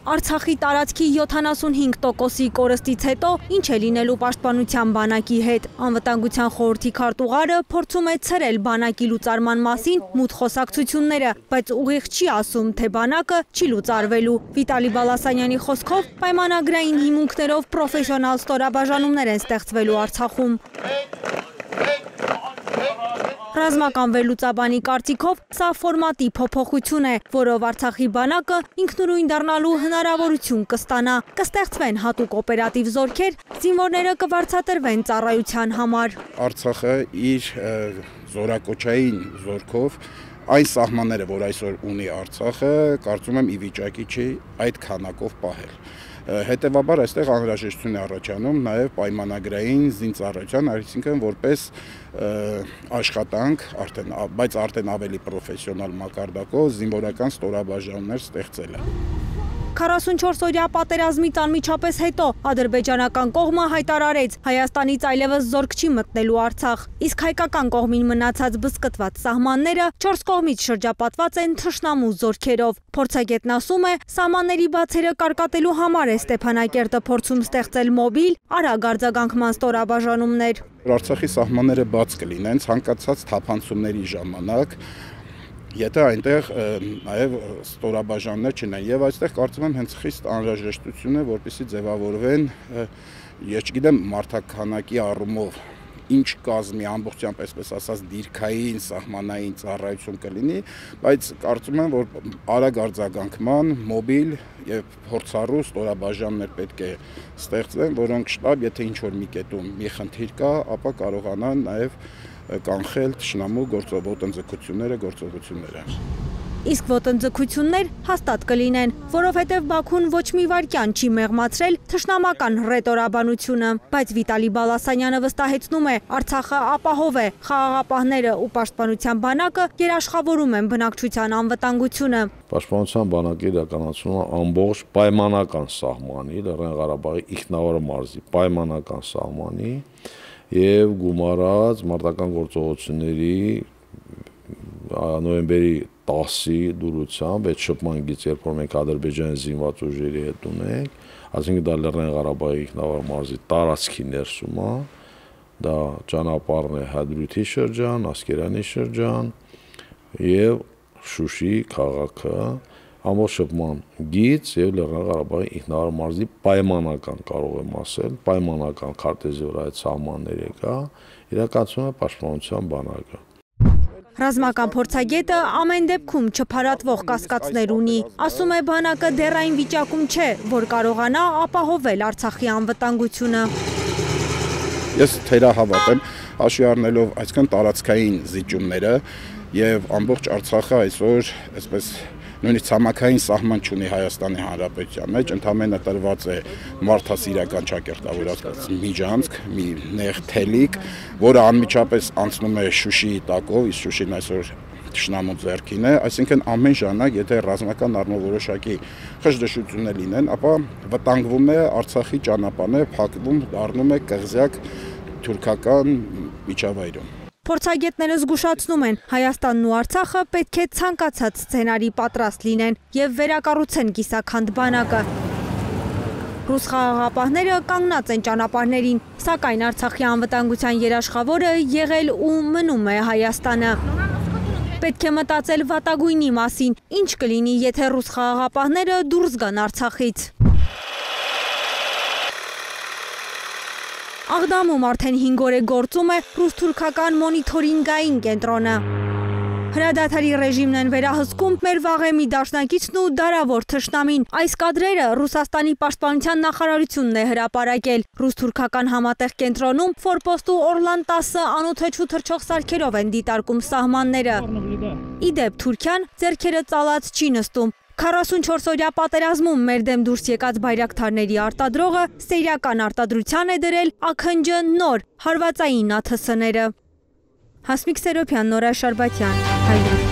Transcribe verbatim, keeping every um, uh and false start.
Արցախի տարածքի յոթանասունհինգ տոկոսի կորստից հետո ինչ է լինելու պաշտպանության բանակի հետ։ Անվտանգության խորհրդի քարտուղարը փորձում է ցրել բանակի լուծարման մասին մութ խոսակցությունները, բայց ուղիղ չի ասում, թե բանակը չի լուծարվելու։ Վիտալի Բալասանյանի խոսքով պայմանագրային հիմունքներով պրոֆեսիոնալ ստորաբաժանումներ են ստեղծվելու Արցախում։ Ռազմական վերլուծաբանի կարծիքով սա ֆորմատի փոփոխություն է, որով Արցախի բանակը ինքնուրույն դառնալու հնարավորություն կստանա, կստեղծվեն հատուկ օպերատիվ զորքեր, զինվորները կվարձատրվեն ծառայության համար։ Արցախը իր զորակոչային զորքով այն սահմանները, որ այսօր ունի Արցախը, կարծում եմ ի վիճակի չի այդ քանակով պահել։ Հետևաբար այստեղ անհրաժեշտություն է առաջանում նաև պայմանագրային զինծառայության, այսինքն որպես աշխատանք, արդեն, բայց արդեն ավելի պրոֆեսիոնալ մակարդակով զինվորական ստորաբաժանումներ ստեղծելը։ քառասունչորս օրյա պատերազմից անմիջապես հետո ադրբեջանական կողմը հայտարարեց Հայաստանից այլևս զորք չի մտնելու Արցախ, իսկ հայկական կողմին մնացած բզկտված սահմանները չորս կողմից շրջապատված են թշնամու զորքերով։ Փորձագետն ասում է, սահմանների բացերը կարկատելու համար է Ստեփանակերտը փորձում ստեղծել մոբիլ, արագ արձագանքման ստորաբաժանումներ։ Արցախի սահմանները բաց կլինեն ցանկացած թափանցումների ժամանակ, եթե այնտեղ նաև ստորաբաժանումներ չունեն, եւ այստեղ կարծում եմ հենց խիստ անհրաժեշտություն է, որպեսզի ձևավորվեն, ես չգիտեմ մարդաքանակի առումով ինչ կազմի ամբողջությամբ, այսպես ասած, դիրքային սահմանային ծառայություն կլինի, բայց կարծում եմ, որ արագ արձագանքման, մոբիլ եւ փորձառու ստորաբաժանումներ պետք է ստեղծվեն, որոնք շտապ, եթե ինչ որ մի կետում մի խնդիր կա, ապա կարողանան նաև կանխել թշնամու ոտնձգությունները, գործողությունները։ Իսկ ոտնձգություններ հաստատ կլինեն, որովհետև Բաքուն ոչ մի վայրկյան չի մեղմացրել թշնամական ռետորաբանությունը, բայց Վիտալի Բալասանյանը վստահեցնում է, Արցախը ապահով է, խաղաղապահները ու պաշտպանության բանակը երաշխավորում են բնակչության անվտանգությունը։ Պաշտպանության բանակը իրականացնում է ամբողջ պայմանական սահմանի, Լեռնային Ղարաբաղի ինքնավար մարզի պայմանական սահմանի և գումարած մարտական գործողությունների նոյեմբերի տասի դուրությամբ այդ շփման գիծ, երբ որ մենք Ադրբեջանի զինված ուժերի հետ ունենք, այսինքն դա Լեռնային Ղարաբաղի ինքնավար մարզի տարածքի ներսում է, դա ճանապարհն է Հադրութի շրջան, Ասկերանի շրջան և Շուշի քաղաքը, ամբողջ շփման գիծ և Լեռնային Ղարաբաղի ինքնավար մարզի պայմանական, կարող եմ ասել, պայմանական քարտեզի վրա այդ սահմանները կա, իրականացնում է պաշտպանության բանակը։ Ռազմական փորձագետը ամեն դեպքում չփարատվող կասկածներ ունի, ասում է բանակը դեռ այն վիճակում չէ, որ կարողանա ապահովել Արցախի անվտանգությունը։ Ես թերահավատ եմ, հաշվի առնելով այսքան տարածքային զիջումները եւ ամբողջ Արցախը այսօր, այսպես նույնիսկ ցամաքային սահման չունի Հայաստանի Հանրապետության մեջ, ընդամենը տրված է մարդասիրական ճակերտավորած միջանցք, մի նեղ թելիկ, որը անմիջապես անցնում է Շուշիի տակով, իսկ Շուշին այսօր թշնամու ձեռքին է, այսինքն ամեն ժամանակ, եթե ռազմական առումով որոշակի խժդժություններ լինեն, ապա վտանգվում է Արցախի ճանապարհը, փակվում, դառնում է կղզյակ թուրքական միջավայրում։ Փորձագետները զգուշացնում են, Հայաստանն ու Արցախը պետք է ցանկացած սցենարի պատրաստ լինեն և վերակառուցեն կիսաքանդ բանակը։ Ռուս խաղաղապահները կանգնած են ճանապարհներին, սակայն Արցախի անվտանգության երաշխավորը եղել ու մնում է Հայաստանը։ Պետք է մտածել վատագույնի մասին, ինչ կլինի, եթե ռուս խաղաղապահները դուրս գան Արցախից։ Աղդամում արդեն հինգ օր է գործում է ռուս-թուրքական մոնիթորինգային կենտրոնը։ Հրադադարի ռեժիմն են վերահսկում մեր վաղեմի դաշնակիցն ու դարավոր թշնամին։ Այս կադրերը Ռուսաստանի պաշտպանության նախարարությունն է հրապարակել։ Ռուս-թուրքական համատեղ կենտրոնում Ֆորպոստ ու Օրլան տասը անօդաչու թռչող սարքերով են դիտարկում սահմանները։ Ի դեպ Թուրքիան ձեռքերը ծալած չի նստում։ քառասունչորս օրյա պատերազմում մեր դեմ դուրս եկած բայրակթարների արտադրողը սերիական արտադրության է դրել աքնջը նոր հարվածային աթսները։ Հասմիկ Սերոբյան, Նորա Շարբաթյան, Հայրենիք։